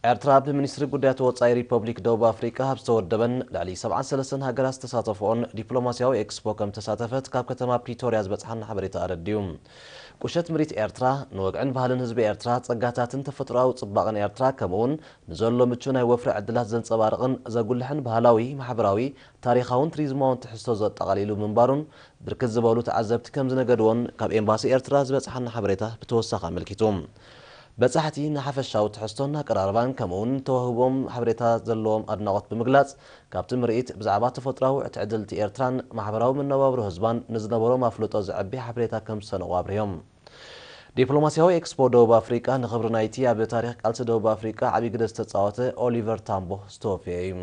ኤርትራ ብሚኒስትሪ ጉዳያት ወጻኢ ሪፐብሊክ ደቡብ ኣፍሪቃ ኣብ ዝተወደበን ልዕሊ ሰብዓን ሰለስተን ሃገራት ዝተሳተፈኦን ዲፕሎማስያዊ ኤክስፖ ከም ተሳተፈት ካብ ከተማ ፕሪቶርያ ዝበጽሓና ሓበሬታ ኣረድዩ። ቁሸት ምሪት ኤርትራ፣ ንወግዕን ባህልን ህዝቢ ኤርትራ፣ ጸጋታትን ተፈጥሮኣዊ ጽባቐን ኤርትራ፣ ከምኡውን ንዘሎ ምቹ ናይ ወፍሪ ዕድላት ዘንጸባርቕን ዘጉልሕን ባህላዊ፣ ማሕበራዊ፣ ታሪኻውን ቱሪዝማውን ትሕዝቶ ዘጠቓሊሉ ምንባሩን ብርክት ዝበሉ ተዓዘብቲ ከም ዝነገድዎን ካብ ኤምባሲ ኤርትራ ዝበጽሓና ሓበሬታ ብተወሳኺ ኣመልኪቱ። በጻሕቲ ንሓፈሻዊ ትሕዝቶን ኣቀራርባን ከምኡውን ተዋህቦም ሓበሬታ ዘለዎም ኣድናቖት ብምግላጽ፣ ካብቲ ምርኢት ብዛዕባ ተፈጥሮኣዊ ትዕድልቲ ኤርትራን ማሕበራዊ መነባብሮ ህዝባን ንዝነበሮም ኣፍልጦ ዘዕቢ ሓበሬታ ከም ዝሰነቑ ኣብሪሆም። ዲፕሎማስያዊ ኤክስፖ ደቡብ ኣፍሪቃ ንኽብሪ ናይቲ ኣብ ታሪኽ ቃልሲ ደቡብ ኣፍሪቃ ዓብዪ ግደ ዝተጻወተ ኦሊቨር ታምቦ ዝተወፈየ እዩ።